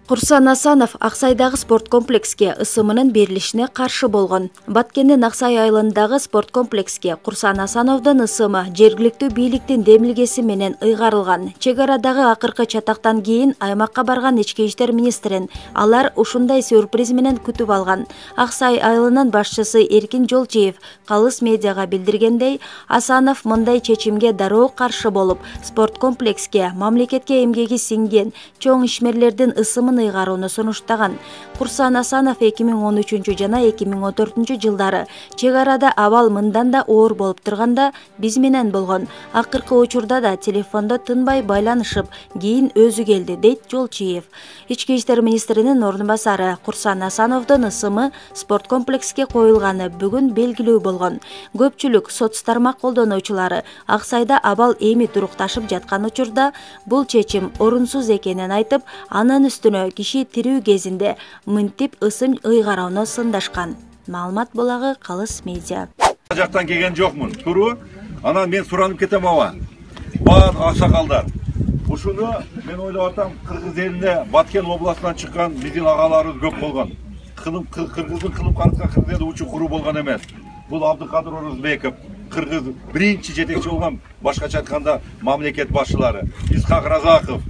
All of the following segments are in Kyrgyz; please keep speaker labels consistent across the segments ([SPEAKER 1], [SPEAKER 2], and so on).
[SPEAKER 1] Курсан Асанов Аксайдагы спорт комплекске ысымынын берилишине каршы болгон. Баткендин Аксай айылындагы спорт комплекске Курсан Асановдун ысымы жергиликтүү бийликтин демилгеси менен ыйгарылган. Чек арадагы акыркы чатактан кийин аймакка барган ички иштер министрин алар ушундай сюрприз менен күтүп алган. Аксай айылынын башчысы Эркин Жолчиев Калыс медиага билдиргендей, Асанов мындай чечимге дароо каршы болуп, спорт комплекске мамлекетке эмгеги сиңген чоң ишмерлердин ысымын ыйгарууну сунуштаган. Курсан Асанов 2013 жана 2014 жылдары чек арада абал мындан да оор болуп турганда биз менен болгон. Акыркы учурда да телефондо тынбай байланышып, кийин өзү келди, дейт Жолчиев. Ички иштер министринин орун басары Курсан Асановдун ысымы спорт комплекске коюлганы бүгүн белгилүү болгон. Көпчүлүк соц тармак колдонуучулары Аксайда абал эми турукташып жаткан учурда бул чечим орунсуз экенин айтып, анын үстүнө киши тирүү кезинде мынтип ысым ыйгарууну сындашкан. Маалымат булагы Калыс медиа.
[SPEAKER 2] Жактан келген жокмун. Туру, анан мен суранып кетем аба. Бар аксакалдар. Ушуну мен ойлоп атам, Кыргыз элине Баткен областынан чыккан биздин агаларыбыз көп болгон. Кыргыздын кылып караткан Кыргыз элде учу куруу болгон эмес. Бул Абдыкадыр Орозбеков, Кыргыз биринчи жетекчи болгон, башкача айтканда мамлекет башчылары, Исхак Разаков,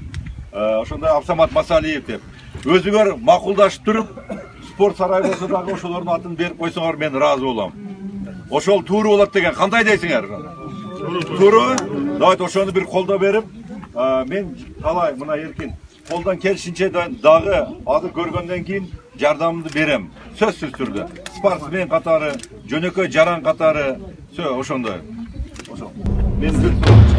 [SPEAKER 2] ошондой Абсамат Масалиев деп. Өзүңөр макулдашып туруп, спорт сарай болсо дагы ошолордун атын берип койсоңор мен ыраазы болом. Ошол тууру болот деген кандай дейсиңер? Тууру? Давайте ошону бир колдоо берип, мен талай мына Эркин колдон келишинче дагы азыр көргөндөн кийин жардамымды берем. Сөзсүз түрдө. Спортсмен катары, жөнөкөй жаран катары, ошондой. Мен